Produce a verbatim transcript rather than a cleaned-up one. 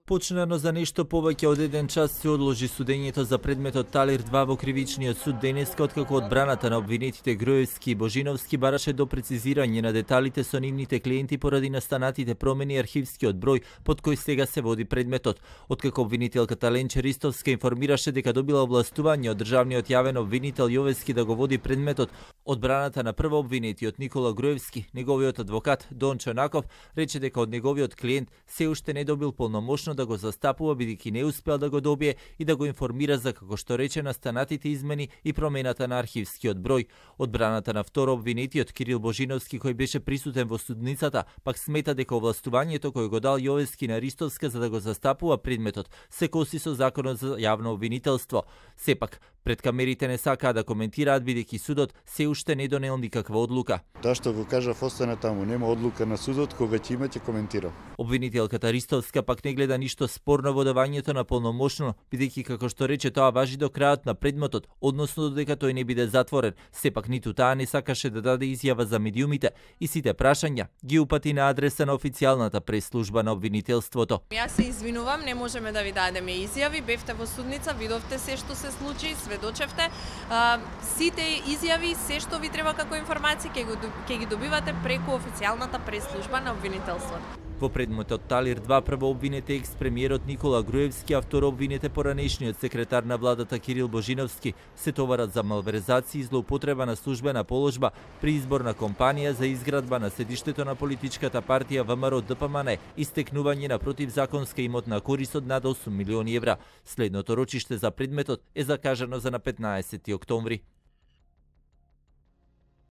Почнано за нешто повеќе од еден час се одложи судењето за предметот Талир два во кривичниот суд денеска, откако одбраната на обвинетите Груевски и Божиновски бараше до прецизирање на деталите со нивните клиенти поради настанатите промени архивскиот број под кој сега се води предметот. Откако обвинителката Ленче Ристовска информираше дека добила овластување од државниот јавен обвинител Јовески да го води предметот, одбраната на прво обвинетиот Никола Груевски, неговиот адвокат Дон Чонаков, рече дека од неговиот клиент се уште не добил полномошно да го застапува бидејќи не успел да го добие и да го информира за, како што рече, настанатите измени и промената на архивскиот број. Одбраната на второ обвинетиот Кирил Божиновски, кој беше присутен во судницата, пак смета дека овластувањето кој го дал Јовески на Ристовска за да го застапува предметот се коси со законот за јавно обвинителство. Сепак, пред камерите не сакаа да коментираат бидејќи судот се уште не донел никаква одлука. Таа што го кажав остана таму, нема одлука на судот, кога ќе има ќе коментирам. Обвинителката Ристовска пак не гледа ништо спорно во давањето на полномошно, бидејќи како што рече тоа важи до крајот на предметот, односно додека тој не биде затворен. Сепак ниту таа не сакаше да даде изјава за медиумите и сите прашања ги упати на адреса на официјалната прес-служба на обвинителството. Јас се извинувам, не можеме да ви дадеме изјави, бевте во судница, видовте се што се случи, сведочевте. А, сите изјави, се што ви треба како информации, ќе ќе ги добивате преку официјалната прес-служба на обвинителството. Во предметот Талир два прво обвинете екс-премиерот Никола Груевски, а второ обвинете поранешниот секретар на владата Кирил Божиновски, се товарат за малверзација и злоупотреба на службена положба при изборна компанија за изградба на седиштето на политичката партија ВМРО Д П М Н и стекнување на противзаконска имотна корист од над осум милиони евра. Следното рочиште за предметот е закажано за на петнаесети октомври.